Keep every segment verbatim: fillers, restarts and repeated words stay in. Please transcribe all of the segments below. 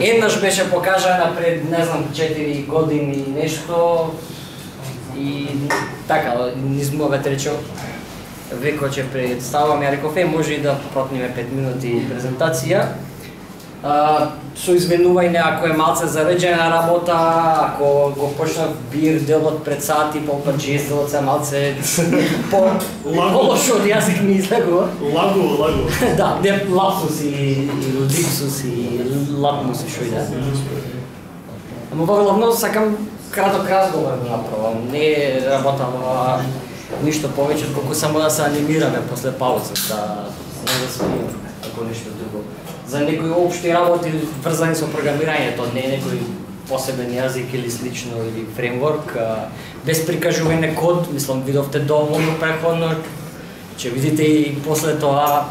Еднаш беше покажана пред, не знам, четири години нешто и така, низ мојот речо, веко ќе представам, ја реков, е, може и да протниме пет минути презентација. Uh, со извинување ако е малце зареđена работа, ако го почнав бир делот пред сати, попат жезделот се малце по-лошо од јазик ми излегува. Лагу, лагу. Да, не лапсус и липсус и лапмус и шо и да. Ама воглавно сакам краток разговор да направам, не работам ништо повеќе, колку само да се анимираме после пауза, да не да свирим ако нешто друго. За некои општи работи врзани со програмирањето, не е некој посебен јазик или слично или фреймворк, без прикажување код, мислам видовте доволно преходно, ќе видите и после тоа,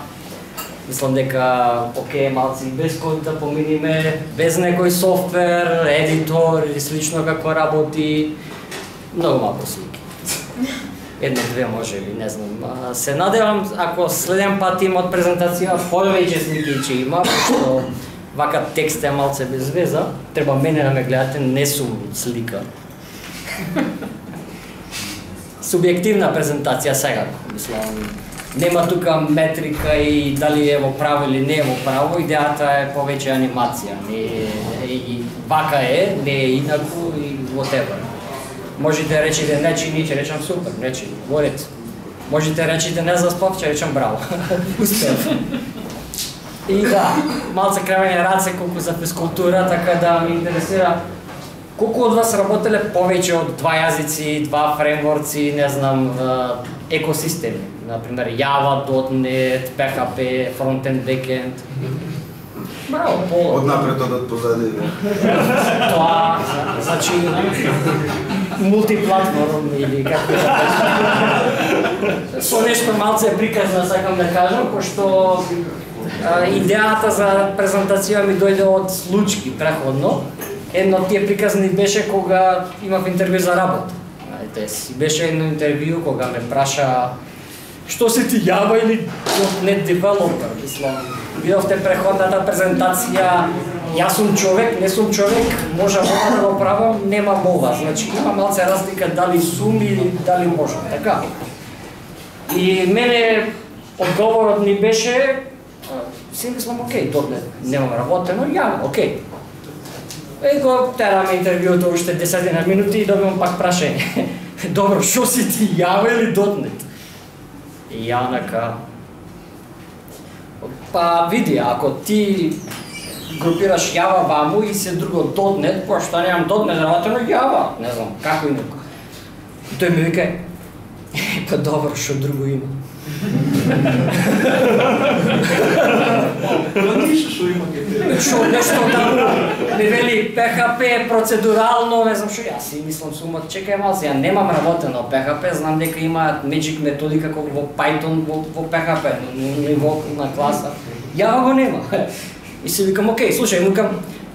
мислам дека окей, малци без код да поминиме, без некој софтвер, едитор или слично како работи, многу малку слики. Една-две може би, не знам. Се надевам, ако следен пат имат презентација, повеќе слики ќе има, што вака текст е малце без веза, треба мене да ме гледате, не сум слика. Субјективна презентација сега, мислам, нема тука метрика и дали е во право или не е во право, идејата е повеќе анимација, не е, и вака е, не е инаку и whatever. Можете да речете не чини, ќе речам супер, не чини, ворец. Можете да речете не заспав, ќе речам браво. Успев. И да, малце кривење раце колку за физкултура, така да ми интересира колку од вас работеле повеќе од два јазици, два фреймворци, не знам, екосистеми. Например, Java, .дот нет, P H P, фронтенд, бекенд. Браво, Поло. Однапред одат позади. Тоа, значи, мултиплатформ или како да кажам. Со нешто малце приказно сакам да кажам, пошто идејата за презентација ми дојде од случки преходно. Едно од тие приказни беше кога имав интервју за работа. Знаете, си беше едно интервју кога ме праша што си ти Java или .дот нет developer, мислам. Видовте преходната презентација, јас сум човек, не сум човек, можам да го правам, нема молба. Значи има малце разлика дали сум или дали можам, така. И мене одговорот ми беше, си мислам, окей, .дот нет немам работено, Java, окей. И го тераме интервјуто уште десетина минути и добивам пак прашање. Добро, шо си ти Java или .дот нет? И Јанака, па види, ако ти групираш Java ваму и се друго .дот нет, која што немам .дот нет работено Java, не знам, како инако. И тој ми вика, па добро, шо друго има? Ништо шо има ке тебе. Шо нешто таму, ми вели P H P процедурално, не знам шо, јас си мислам сумат, чекај малце, ја немам работено P H P, знам дека има Magic методика како во Python, во, во P H P, ниво на класа. Java го нема. И си викам, окей, слушај, викам,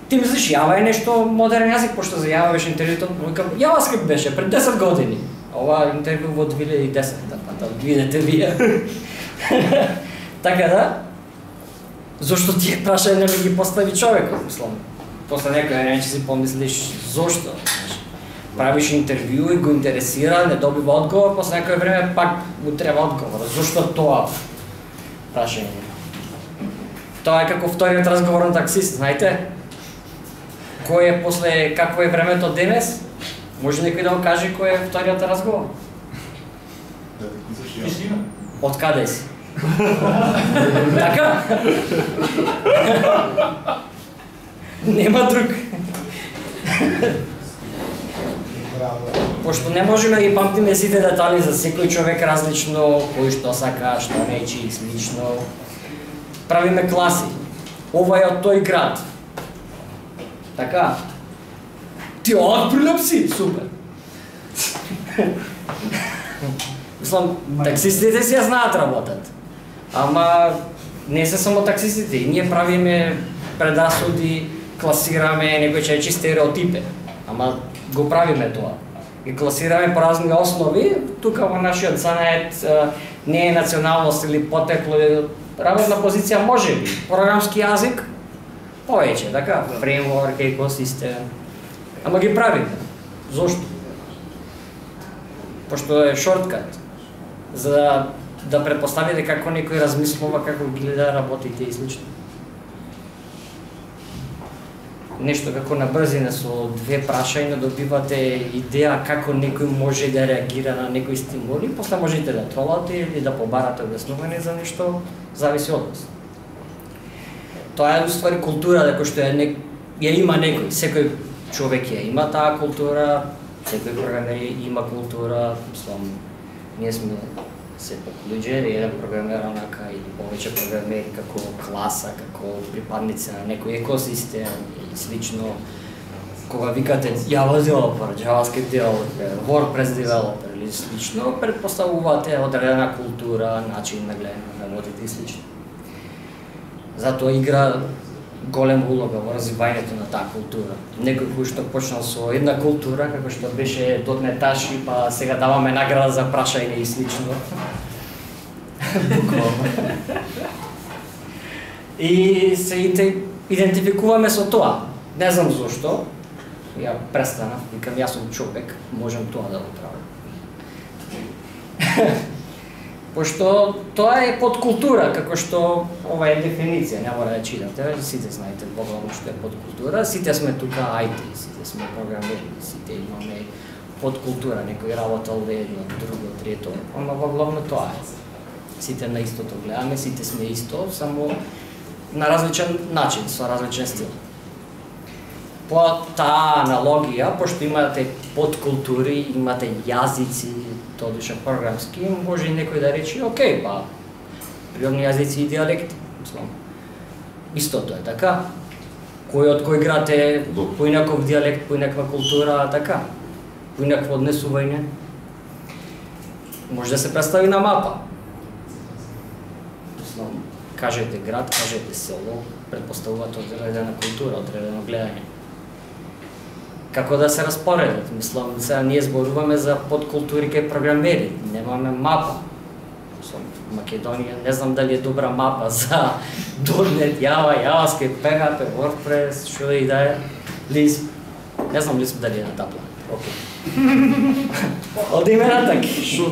ти мислиш Java е нешто модерен јазик, пошто за Java беше интервјуто, викам, JavaScript беше пред десет години. Ова интервју во две илјади и десета, да видите вие. Така да, зошто тие прашања не ми ги постави човекот, мислам. После некој ден ќе си помислиш зошто. Правиш интервју и го интересира, не добива одговор, после некој време пак му треба одговор. Зошто тоа прашање? Тоа е како вториот разговор на таксист, знаете? Кој е после какво е времето денес? Може некој да го каже кој е вториот разговор? Од каде си? Така? Нема друг. Пошто не можеме да ги памтиме сите детали за секој човек различно, кој што сака, што нечи и слично. Правиме класи. Ова е од тој град. Така? Ти од Прилеп си? Супер. Мислам, таксистите си ја знаат работат. Ама не се само таксистите, ние правиме предасуди, класираме некој ќе речи стереотипи. Ама го правиме тоа. Ги класираме по разни основи, тука во нашиот занает не е националност или потекло, работна позиција може би, програмски јазик, повеќе, така, фреймворк, екосистем. Ама ги правите. Зошто? Пошто е шорткат. За да претпоставите како некој размислува, како ги гледа работите и слично. Нешто како на брзина со две прашања добивате идеја како некој може да реагира на некој стимул и после можете да тролате или да побарате објаснување за нешто, зависи од вас. Тоа е уствари култура дека што е не... ја има некој, секој човек ја има таа култура, секој програмер има култура, мислам, ние сме сепак луѓе, еден програмер онака или повеќе програмери како класа, како припадници на некој екосистем или слично. Кога викате Java developer, JavaScript developer, WordPress developer или слично, предпоставувате одредена култура, начин на гледање на работите и слично. Затоа игра голема улога во развивањето на таа култура. Некој кој што почнал со една култура, како што беше дотнеташи, па сега даваме награда за прашање и слично. Буквално. И се идентификуваме со тоа. Не знам зошто. Ја престанав, викам јас сум човек, можам тоа да го правам. Пошто тоа е подкултура, како што ова е дефиниција, не мора да читате, сите знаете буквално што е подкултура, сите сме тука ай ти, сите сме програмери, сите имаме подкултура, некој работел едно, друго, трето, ама во главно тоа е. Сите на истото гледаме, сите сме исто, само на различен начин, со различен стил. По таа аналогија, пошто имате подкултури, имате јазици, тодуша програмски, може и некој да рече, окей, па, природни јазици и диалекти, мислам. Истото е, така? Кој од кој град е поинаков диалект, поинаква култура, така? Поинакво однесување. Може да се представи на мапа. Мислам, кажете град, кажете село, предпоставувате одредена култура, одредено гледање. Како да се распоредат, мислам, сега ние зборуваме за подкултури кај програмери, немаме мапа. Мислам, Македонија, не знам дали е добра мапа за .NET, Java, JavaScript, P H P, WordPress, што да и да е, Lisp. Не знам Lisp дали е на таа плана. Окей. Одиме натаки.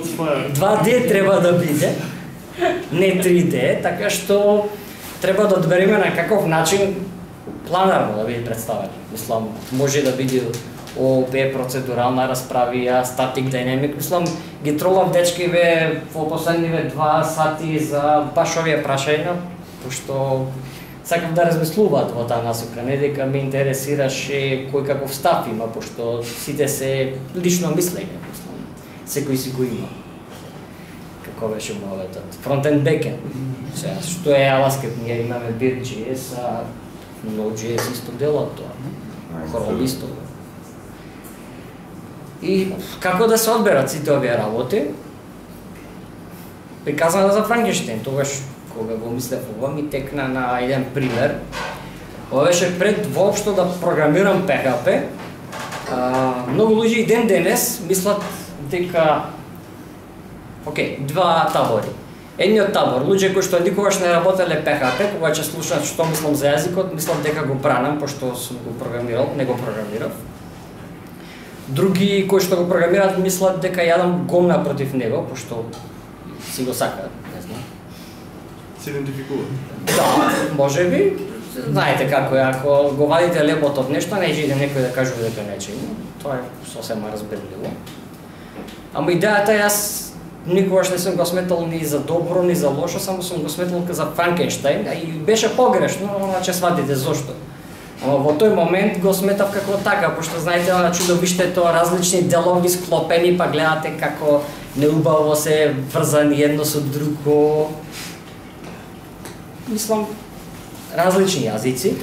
два Д треба да биде, не три Д, така што треба да одбереме на каков начин планарно да биде представен. Мислам, може да биде О О П, процедурална расправија, статик динамик. Мислам, ги тролав дечкиве во последниве два сати за баш овие прашања, пошто сакам да размислуваат во таа насока, не дека ме интересираше кој каков став има, пошто сите се лично мислење, мислам. Секој си го има. Како беше моветот? Фронтенд, бекенд. Сега, што е JavaScript? Ние имаме Vue.js, а Node.js исто делат тоа. Chrome исто. И како да се одберат сите овие работи? Приказано за Франкенштейн, тогаш кога го мислев ова ми текна на еден пример. Ова беше пред воопшто да програмирам P H P. А, многу луѓе и ден денес мислат дека окей, два табори. Едниот табор, луѓе кои што никогаш не работеле P H P, кога ќе слушаат што мислам за јазикот, мислам дека го бранам, пошто сум го програмирал, не го програмирав. Други кои што го програмираат мислат дека јадам гомна против него, пошто си го сакаат, не знам. Се идентификува. Да, може би. Знаете како е, ако го вадите лебот од нешто, не иде некој да кажува дека не има. Тоа е сосема разбирливо. Ама идејата јас никогаш не сум го сметал ни за добро, ни за лошо, само сум го сметал за Франкенштейн, и беше погрешно, значи сватите зошто. Ама во тој момент го сметав како така, пошто знаете на чудовиштето различни делови склопени, па гледате како неубаво се врзани едно со друго. Мислам, различни јазици.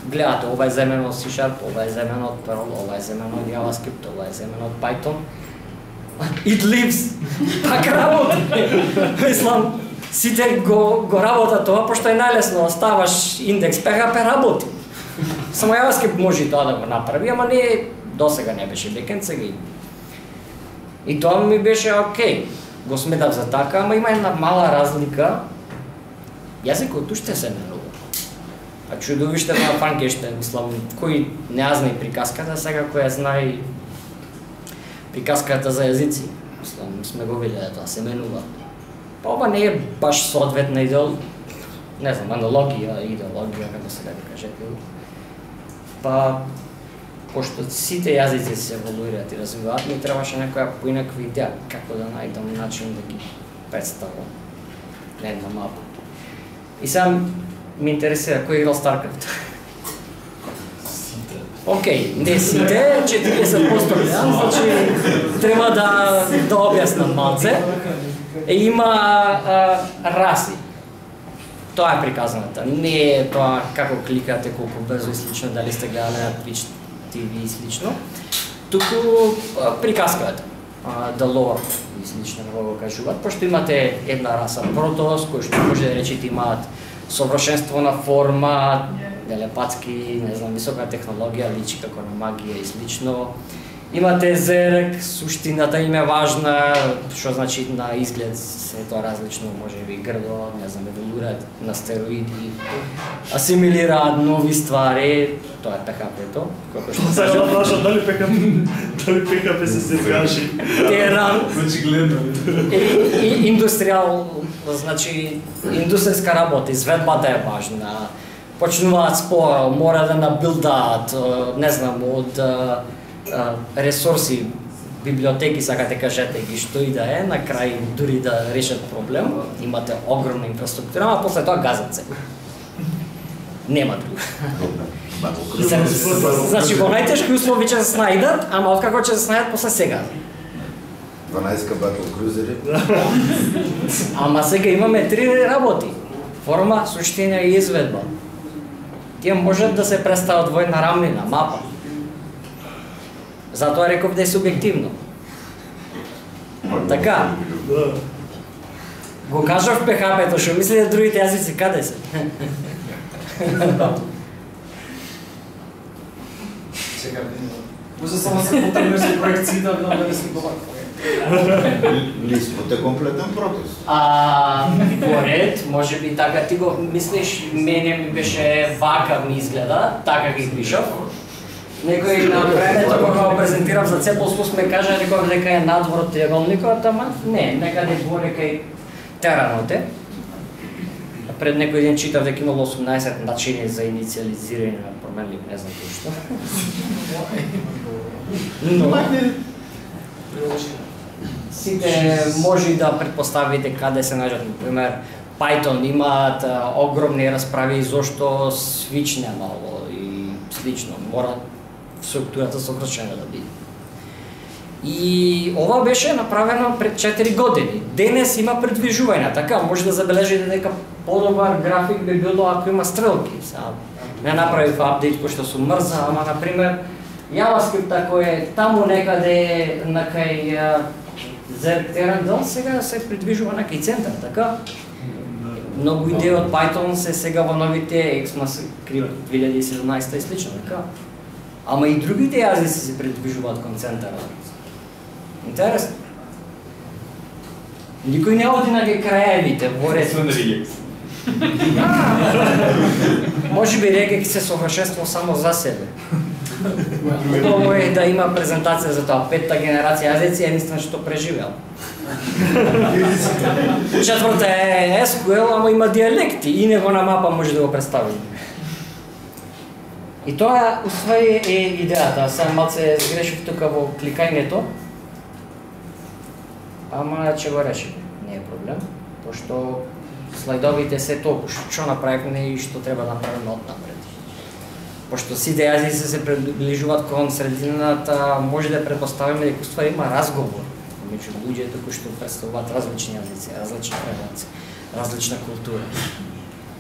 Гледате, ова е земено од C Sharp, ова е земено од Perl, ова е земено од JavaScript, ова е земено од Python. It lives, пак работа. Мислам, сите го, го работа тоа, пошто е најлесно, ставаш индекс P H P работи. Само JavaScript може тоа да го направи, ама не, досега не беше бекенд, сега и. И тоа ми беше окей, го сметав за така, ама има една мала разлика. Јазикот уште се менува. Па чудовиште на Франкенштейн, мислам, кој не ја знае приказката, сега кој ја знае приказката за јазици. Мислам, сме го виделе тоа, се менува. Па ова не е баш соодветна идеол, не знам, аналогија, идеологија, како се да кажете. Па, пошто сите јазици се еволуираат и развиваат, ми требаше некоја поинаква идеја како да најдам начин да ги представам на една мапа. И сега ми интересира кој играл StarCraft. Океј, не сите, четириесет проценти гледам, значи треба да да објаснам малце. Е, има а, раси. Тоа е приказаната. Не е тоа како кликате, колку брзо и слично, дали сте гледали на Twitch ти ви и слично. Туку приказката, да лор и слично не го кажуваат, пошто имате една раса Протос, кој што може да речете имаат совршенство на форма, телепатски, не знам, висока технологија, личи како на магија и слично. Имате Зерек, суштината им е важна, што значи на изглед се тоа различно, може би грдо, не знам, еволуираат на стероиди, асимилираат нови ствари, тоа е Пе Ха Пе-то, како што кажа. Сега дали Пе Ха Пе, дали Пе Ха Пе се сергаши. Теран. Очигледно. И индустријал, значи индустријска работа, изведбата е важна. Почнуваат споро, мора да набилдаат, не знам, од ресурси, библиотеки, сакате кажете ги што и да е, на крај дури да решат проблем, имате огромна инфраструктура, а после тоа газат се. Нема друго. Значи во најтешки услови ќе се снајдат, ама откако ќе се снајдат после сега. дванаесет батл крузери. Ама сега имаме три работи. Форма, суштина и изведба. Тие можат да се представат во една рамнина, мапа. Затоа реков да е субјективно. Така. Го кажав Пе Ха Пе-то, што мислите другите јазици каде се? Чекам, може само се потребнеш за проекцијата да не си добар. Листвот е комплетен Протос. А, поред, може би така ти го мислиш, мене ми беше вака ми изгледа, така ги пишав. Некој на времето кога го презентирав за Цепл Слус ме кажа реков дека е надвор од триаголникот, ама не, некаде горе кај теранот е. Пред некој ден читав дека имало осумнаесет начини за инициализирање на променливи, не знам кој што. Но сите може да предпоставите каде се најдат, например, Python имаат а, огромни расправи зошто Switch немало и слично, мора структурата совршена да биде. И ова беше направено пред четири години. Денес има предвижување, така може да забележите дека подобар график би било ако има стрелки. Са, не направив апдейт кој што сум мрза, ама например JavaScript кој е таму некаде на кај Зерк Терандел сега се придвижува на кај центар, така? Многу идеи од Python се сега во новите ECMAScript две илјади и седумнаесета и слично, така? Ама и другите јазици се придвижуваат кон центарот. Интересно. Никој не оди на краевите, во ред. Може би Регекс се совршенство само за себе. Тоа е да има презентација за тоа, петта генерација јазици е единствено што преживел. Четврта е Ес Ку Ел, ама има диалекти и него на мапа може да го представи. И тоа усвои е идејата, сега малце сгрешив тука во кликањето, ама ќе го решим, не е проблем, пошто слайдовите се толку што направивме и што треба да направиме однапред. Пошто сите јазици се приближуваат кон средината, може да предпоставиме дека уствари има разговор меѓу луѓето кои што представуваат различни јазици, различни предаци, различна култура.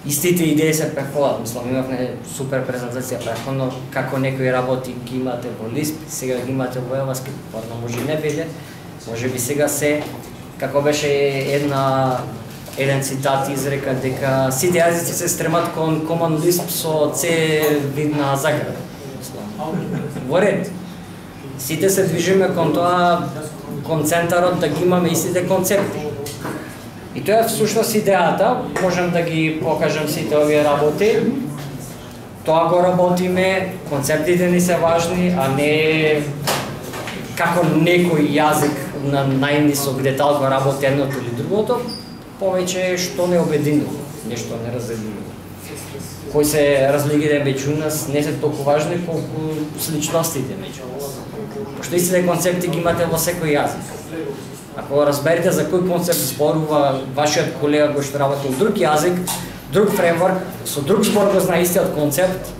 Истите идеи се преходат, мислам, имавме супер презентација преходно, како некои работи ги имате во Lisp, сега ги имате во JavaScript, порно може и не биде, може би сега се, како беше една еден цитат изрека дека сите јазици се стремат кон Common Lisp со C видна заграда. Во ред. Сите се движиме кон тоа, кон центарот да ги имаме истите концепти. И тоа е всушност идејата, можам да ги покажам сите овие работи. тоа го работиме, концептите ни се важни, а не како некој јазик на најнисок детал го работи едното или другото, повеќе што не обединува, нешто не разделува. Кои се разликите меѓу нас не се толку важни колку сличностите меѓу нас. Пошто истите концепти ги имате во секој јазик. Ако разберете за кој концепт зборува вашиот колега кој што работи во друг јазик, друг фреймворк, со друг збор го знае истиот концепт,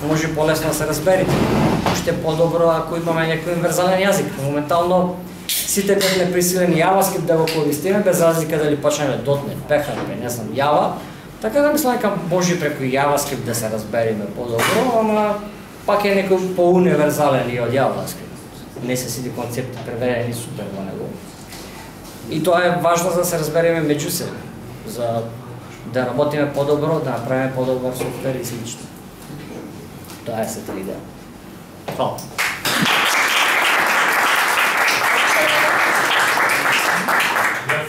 може полесно да се разберете. Уште подобро ако имаме некој универзален јазик. Моментално сите бевме присилени JavaScript да го користиме, без разлика дали почнеме .дот нет, P H P, не знам, Java. Така да мислам дека може преку JavaScript да се разбериме подобро, ама пак е некој по-универзален и од JavaScript. Не се сите концепти преведени супер во него. И тоа е важно за да се разбереме меѓу себе, за да работиме подобро, да направиме подобар софтвер и слично. Тоа е сета идеја. Фала.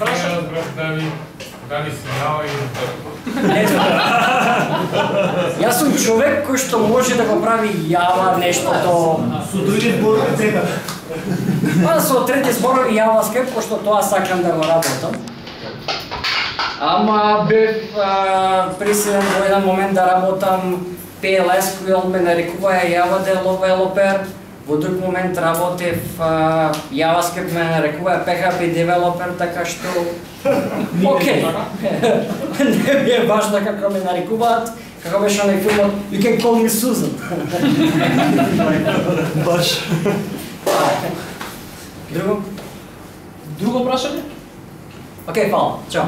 Ја разбрав дали дали си Java или .дот. Не знам. Јас сум човек кој што може да го прави Java нештото Со други зборови дека. па со трети зборови JavaScript, пошто тоа сакам да го работам. Ама бев присилен во еден момент да работам P L S, кој ме нарекува Java Developer. Во друг момент работев а, JavaScript ме нарекува P H P Developer, така што окей. Не ми е важно како ме нарекуваат, како беше на филмот You can call me Susan. Баш. Друго? Друго прашање? Окей, фала. Чао.